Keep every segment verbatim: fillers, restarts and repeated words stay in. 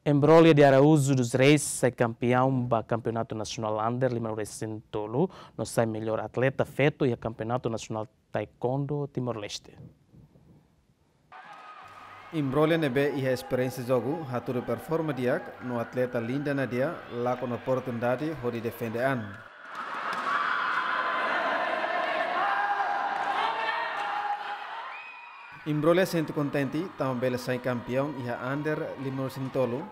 Imbrolha de Araújo dos Reis sai kampeão ba Kampeonatu Nasionál Under lima resin tolu, no sai mellór atleta feto iha Kampeonatu Nasionál Taekwondo Timor-Leste. Imbrolha ne'ebé iha esperiénsia jogu, hatudu performa di'ak, no atleta Linda Nadia lakon oportunidade hodi defende an. Imbrolha sente kontente tanba bele sai kampeão iha Under lima resin tolu,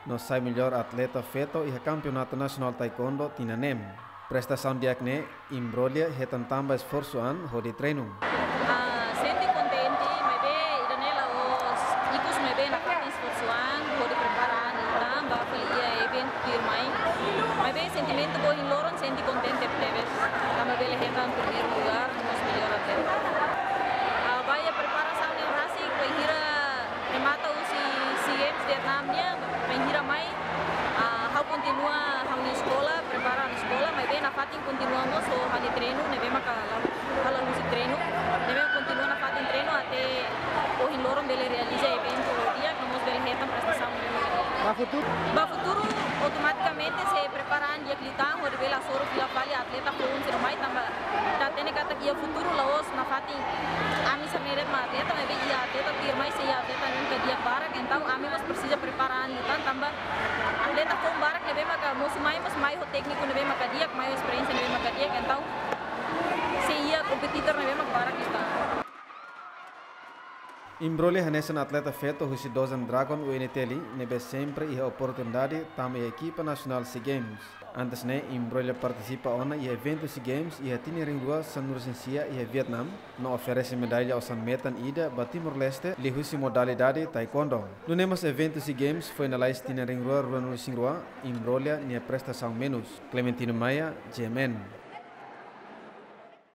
no sai mellór atleta feto iha Kampeonatu Nasionál Taekwondo tinan neen. Prestasaun di'ak ne'e, Imbrolha hetan tanba esforsu an hodi treinu. Ah, sente kontente, maibé ida-ne'e la'ós ikus, maibé nafatin esforsu an hodi prepara an liután ba fali iha eventu tuirmai. Maibé sentimentu ba ohin loron sente kontente tebes. Tanba bele hetan primeiru lugar, no mós mellór atleta. Ah, ba iha preparasaun ne'e rasik, bainhira remata husi SEA Games Vietnam nian, bainhira mai, ah, ha'u kontinua ha'u-nia eskola, prepara ha'u-nia eskola, maibé nafatin kontinua mós ho ha'u-nia treinu, ne'ebé maka la, la husi treinu, ne'ebé kontinua nafatin treinu até ohin loron bele realiza eventu di'ak, no mós bele hetan prestasaun. Ba futuru? Ba futuru, automatikamente sei prepara an di'ak liután, hodi bele hasoru fila fali atleta foun sira mai, tanba ita hatene katak iha futuru la'ós nafatin ami sira-ne'e de'it mak atleta, maibé iha atleta tuirmai sei iha atleta ne'ebé di'ak barak, entaun ami mós presiza prepara an liután tanba atleta foun barak ne'ebé maka mosu mai mós mai ho tékniku ne'ebé maka di'ak, mai ho esperiénsia ne'ebé maka di'ak, entaun sei iha kompetidór ne'ebé maka barak liután. Imbrolha hanesan atleta feto husi Dozen Dragon U N T L, ne'ebé sempre iha oportunidade tama iha ekipa nasionál SEA Games. Antes ne'e, Imbrolha partisipa ona iha eventu SEA Games iha tinan rihun rua sanulu-resin-sia iha Vietnam, no oferese medalla osan-metan ida ba Timor-Leste liuhusi modalidade taekwondo. Nune'e mós eventu SEA Games foin lalais tinan rihun rua ruanulu-resin-rua, Imbrolha nia prestasaun menus. Clementino Maia, G M N.